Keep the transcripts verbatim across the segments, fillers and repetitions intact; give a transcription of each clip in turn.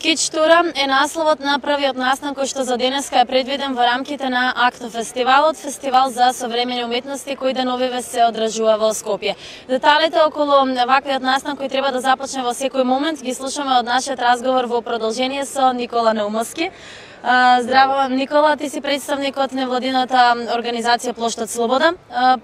Скеч тура е насловот на првиот настан кој што за денеска е предвиден во рамките на АКТО фестивалот, фестивал за современи уметности кој деновиве се одржува во Скопје. Деталите околу ваквиот настан кој треба да започне во секој момент ги слушаме од нашиот разговор во продолжение со Никола Наумовски. Здраво, Никола, ти си представник од невладината организација Плоштад Слобода,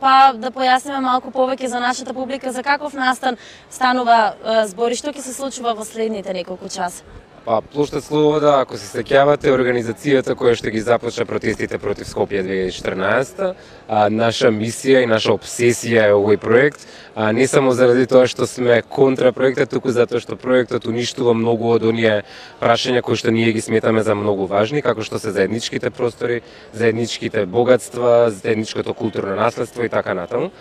па да појасниме малку повеќе за нашата публика за каков настан станува збор и што ќе се случува во следните неколку часа. Па, Плоштад Слобода, ако се сеќавате, организацијата која што ги започна протестите против Скопје две илјади и четрнаесетта, а, наша мисија и наша обсесија е овој проект, а, не само заради тоа што сме контра проектот, туку затоа што проектот уништува многу од оние прашања кои што ние ги сметаме за многу важни, како што се заедничките простори, заедничките богатства, заедничкото културно наследство и така натаму.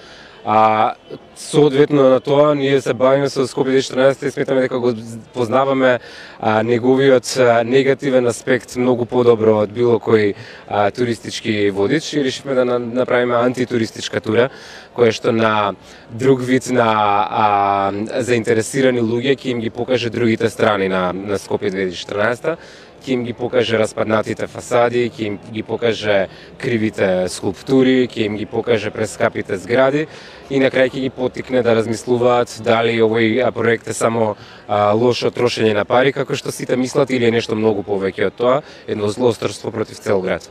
А соодветно на тоа ние се бавиме со Скопје две илјади и четрнаесетта и сметаме дека го познаваме а, неговиот а, негативен аспект многу подобро од било кој а, туристички водич и решивме да направиме антитуристичка тура која што на друг вид на а, заинтересирани луѓе ќе им ги покаже другите страни на, на Скопје две илјади и четрнаесетта, ќе им ги покаже распаднатите фасади, ќе им ги покаже кривите скулптури, ќе им ги покаже прескапите згради и на крај ќе ги поттикне да размислуваат дали овој проект е само а, лошо трошење на пари, како што сите мислат, или е нешто многу повеќе од тоа, едно злоустрство против цел град.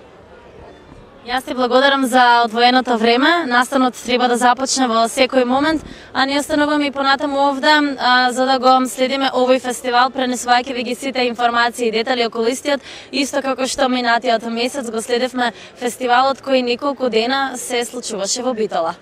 Јас ти благодарам за одвоеното време. Настанот треба да започне во секој момент, а ние остануваме и понатаму овде а, за да го следиме овој фестивал, пренесувајќи ви ги сите информации и детали околу истиот, исто како што минатиот месец го следевме фестивалот кој неколку дена се случуваше во Битола.